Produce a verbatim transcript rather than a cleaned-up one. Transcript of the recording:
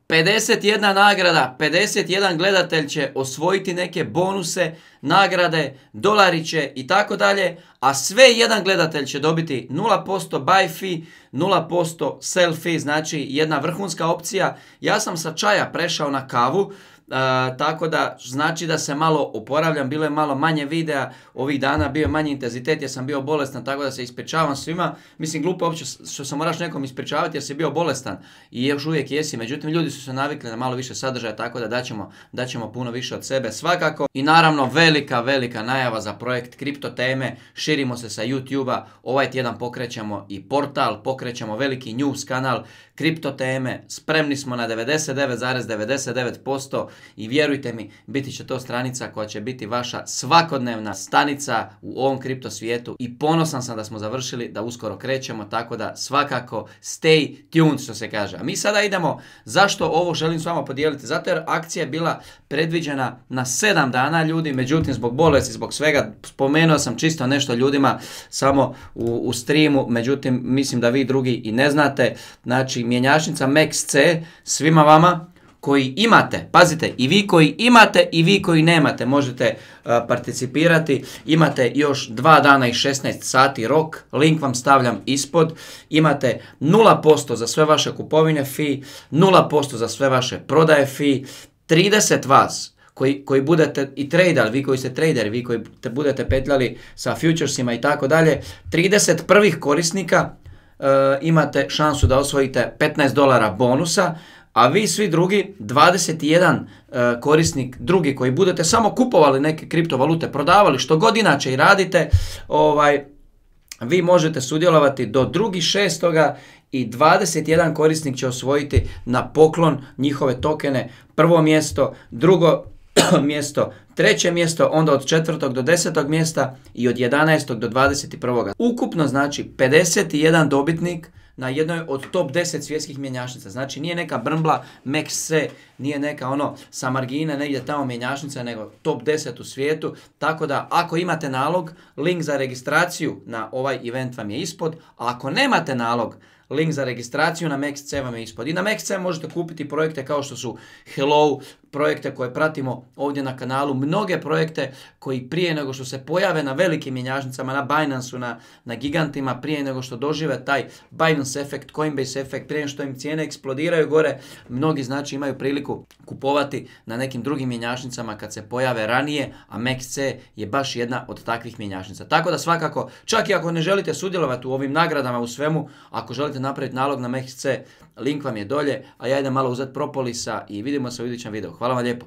pedeset jedna nagrada, pedeset jedan gledatelj će osvojiti neke bonuse, nagrade, dolariće i tako dalje, a sve jedan gledatelj će dobiti nula posto buy fee, nula posto sell fee, znači jedna vrhunska opcija. Ja sam sa čaja prešao na kavu, Uh, tako da znači da se malo oporavljam, bilo je malo manje videa ovih dana, bio je manji intenzitet jer sam bio bolestan, tako da se ispričavam svima. Mislim, glupo uopće što se moraš nekom ispričavati jer si bio bolestan i još uvijek jesi, međutim ljudi su se navikli na malo više sadržaja, tako da daćemo, daćemo puno više od sebe svakako. I naravno velika, velika najava za projekt Kripto teme, širimo se sa YouTube-a, ovaj tjedan pokrećemo i portal, pokrećemo veliki news kanal Kripto teme, spremni smo na devedeset devet zarez devedeset devet posto i vjerujte mi, biti će to stranica koja će biti vaša svakodnevna stanica u ovom kripto svijetu i ponosan sam da smo završili, da uskoro krećemo, tako da svakako stay tuned, što se kaže. A mi sada idemo, zašto ovo želim s vama podijeliti? Zato jer akcija je bila predviđena na sedam dana ljudi, međutim zbog bolesti, zbog svega, spomenuo sam čisto nešto ljudima samo u, u streamu, međutim mislim da vi drugi i ne znate. Znači mjenjačnica M E X C svima vama koji imate, pazite, i vi koji imate i vi koji nemate možete uh, participirati. Imate još dva dana i šesnaest sati rok, link vam stavljam ispod. Imate nula posto za sve vaše kupovine fee, nula posto za sve vaše prodaje fee, trideset vas koji, koji budete i traderi, vi koji ste traderi, vi koji te budete petljali sa futuresima i tako dalje, trideset prvih korisnika uh, imate šansu da osvojite petnaest dolara bonusa. A vi svi drugi, dvadeset jedan uh, korisnik drugi koji budete samo kupovali neke kriptovalute, prodavali, što god inače i radite, ovaj, vi možete sudjelovati do drugi šestoga i dvadeset jedan korisnik će osvojiti na poklon njihove tokene. Prvo mjesto, drugo mjesto, treće mjesto, onda od četvrtog do desetog mjesta i od jedanaestog do dvadeset prvog Ukupno znači pedeset jedan dobitnik na jednoj od top deset svjetskih mjenjačnica. Znači nije neka brmbla M E X C, nije neka ono sa margine negdje tamo mjenjačnica, nego top deset u svijetu. Tako da ako imate nalog, link za registraciju na ovaj event vam je ispod. A ako nemate nalog, link za registraciju na M E X C vam je ispod. I na M E X C možete kupiti projekte kao što su Hello, projekte koje pratimo ovdje na kanalu, mnoge projekte koji prije nego što se pojave na velikim mjenjačnicama, na Binance-u, na, na gigantima, prije nego što dožive taj Binance efekt, Coinbase efekt, prije nego što im cijene eksplodiraju gore, mnogi znači imaju priliku kupovati na nekim drugim mjenjačnicama kad se pojave ranije, a M E X C je baš jedna od takvih mjenjačnica. Tako da svakako, čak i ako ne želite sudjelovati u ovim nagradama u svemu, ako želite napraviti nalog na M E X C, link vam je dolje, a ja idem malo uzeti propolisa i vidimo se u idućem videu. Hvala vam lijepo.